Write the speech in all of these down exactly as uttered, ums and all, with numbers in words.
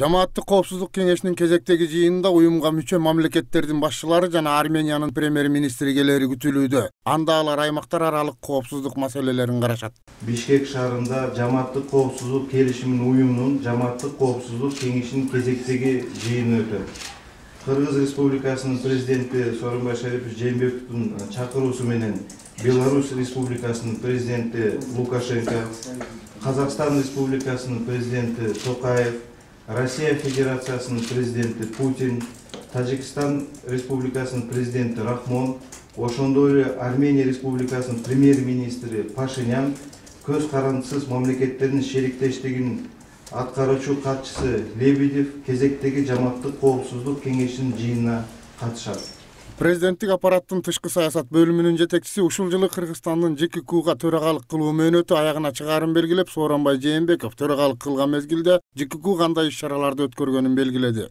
Жамааттык коопсуздук кеңешинин кезектеги жыйынында уюмга мүчө мамлекеттердин башчылары жана Армениянын премьер-министри келери күтүлүүдө. Анда алар аймактар аралык коопсуздук маселелерин карашат. Бишкек шаарында Жамааттык коопсуздук келишимин уюмунун Жамааттык коопсуздук кеңешинин кезектеги жыйыны өтөт. Кыргыз Республикасынын президенти Сооронбай Шарипович Жээнбековдун чакыруусу менен Беларусь Республикасынын президенти Лукашенко, Казакстан Республикасынын президенти Токаев, Россия Федерациясынын президенти Путин, Тажикстан Республикасынын президенти Рахмон, ошондой эле Армения Республикасынын премьер-министри Пашинян көз карандысыз мамлекеттердин шериктештигинин аткаруучу катчысы Лебедев кезектеги Жамааттык коопсуздук кеңешинин жыйынына катышат. Президенттик аппараттын тышкы саясат бөлүмүнүн жетекчиси ушул жылы Кыргызстандын ЖККга төрагалык кылуу мөөнөтү аягына чыгаарын белгилеп, Сооронбай Жээнбеков төрагалык кылган мезгилде ЖКК кандай иш-чараларды өткөргөнүн белгиледи.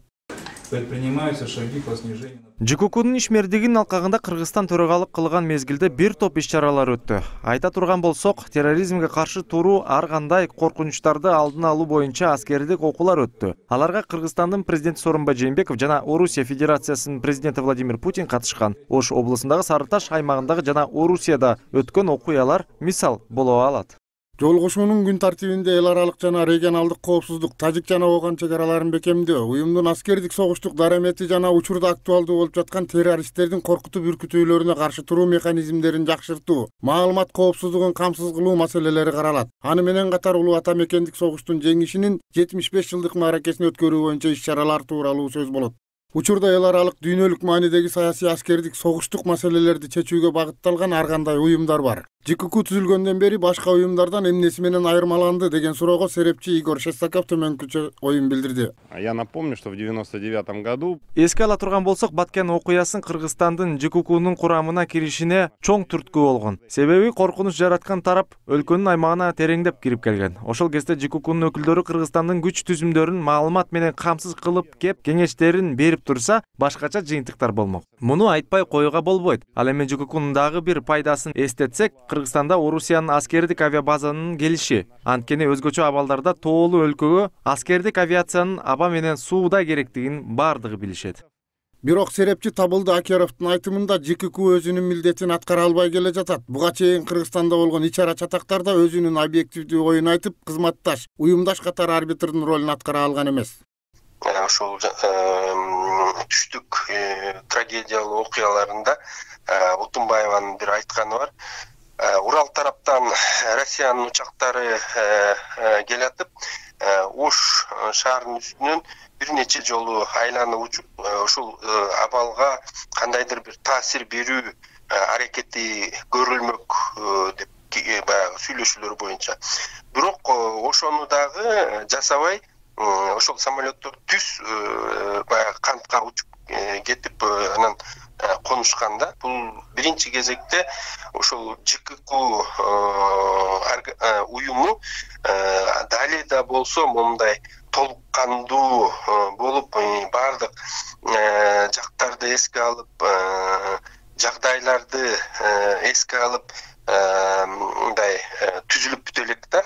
Предпринимаются шаги по снижению. ЖККнын ишмердигинин алкагында Кыргызстан төрагалык кылган мезгилде бир топ иш-чаралар өттү. Айта турган болсок, терроризмге каршы туруу, ар кандай коркунучтарды алдын алуу боюнча аскердик окуулар өттү. Аларга Кыргызстандын президенти Сооронбай Жээнбеков жана Орусия Федерациясынын президенти Владимир Путин катышкан. Ош облусундагы Сары Таш аймагындагы жана Орусияда өткөн окуялар мисал боло алат. Жолугушуунун күн тартибинде эл аралык жана регионалдык коопсуздук, Тажик жана Ооган чек араларын бекемдөө, уюмдун аскердик согуштук дарамети жана учурда актуалдуу болуп жаткан террористтердин коркутуп үркүтүүлөрүнө каршы туруу механизмдерин жакшыртуу, маалымат коопсуздугун камсыз кылуу маселелери каралат. Аны менен катар улуу ата мекендик согуштун жеңишинин жетимиш беш жылдык мааракесин өткөрүү боюнча иш-чаралар тууралуу сөз болот. Учурда эл аралык дүйнөлүк маанидеги саясий аскердик согуштук маселелерди чечүүгө багытталган ар кандай уюмдар бар. ЖКК түзүлгөндөн бери башка уюмдардан эмнеси менен айырмаланды деген суроого серепчи Игорь Шестаков төмөнкүчө оюн билдирди. Я напомню, что в девяносто девятом году эске ала турган болсок, Баткен окуясын Кыргызстандын ЖККнын курамына киришине чоң түрткү болгон. Себеби коркунуч жараткан тарап өлкөнүн аймагына тереңдеп кирип келген. Ошол кезде ЖККнын өкүлдөрү Кыргызстандын күч түзүмдөрүн маалымат менен камсыз кылып кеп кеңештерин берип турса, башкача жыйынтыктар болмок. Муну айтпай коюуга болбойт. Ал эми ЖККнын дагы бир пайдасын эстетсек, Кыргызстанда Орусиянын аскердик авиабазанын келиши. Анткени өзгөчө абалдарда тоолуу өлкөгө аскердик авиациянын аба менен сууда керектигин бардыгы билишет. Бирок серепчи Табылды Акеровдун айтымында ЖКК өзүнүн милдетин аткара албай келе жатат. Буга чейин Кыргызстанда болгон ич-ара чатактарда өзүнүн объективдүү оюн айтып, кызматташ, уюмдаш катары арбитрдин ролун аткара алган эмес. Ошол түштүк трагедиялуу окуяларында Утунбаеванын бир айтканы бар. Урал тараптан Россиянын учактары келатып, Ош шаарынын үстүнөн бир нече жолу айланып учуп, ушул абалга кандайдыр бир таасир берүү аракети көрүлмөк деп баягы сүйлөшүүлөр боюнча. Бирок ошону дагы жасабай, ошол самолеттор түз баягы кантка учуп кетип, анан конушканда, бул биринчи кезекте ошол ЖКК уюму далее да болсо мондай толук кандуу болуп, бардык жактарды эске алып, жагдайларды эске алып, мындай түзүлүп бүтө элек да.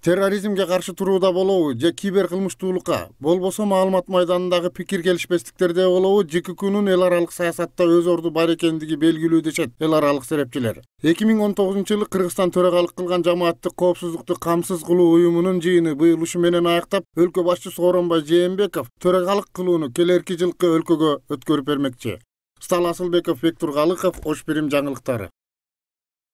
Терроризмге каршы турууда болобу же кибер кылмыштуулукка, болбосо маалымат майданындагы пикир келишпестиктерде болобу, ЖККнын эл аралык саясатта өз орду бар экендиги белгилүү дешет эл аралык серепчилер. эки миң он тогузунчу жылы Кыргызстан төрагалык кылган Жамааттык коопсуздукту камсыз кылуу уюмунун жыйыны быйыл ушу менен аяктап, өлкө башчысы Сооронбай Жээнбеков төрагалык кылууну келерки жылкы өлкөгө өткөрүп бермекчи. Стал Асылбеков, Бектур Галыков, Ош Бирим жаңылыктары.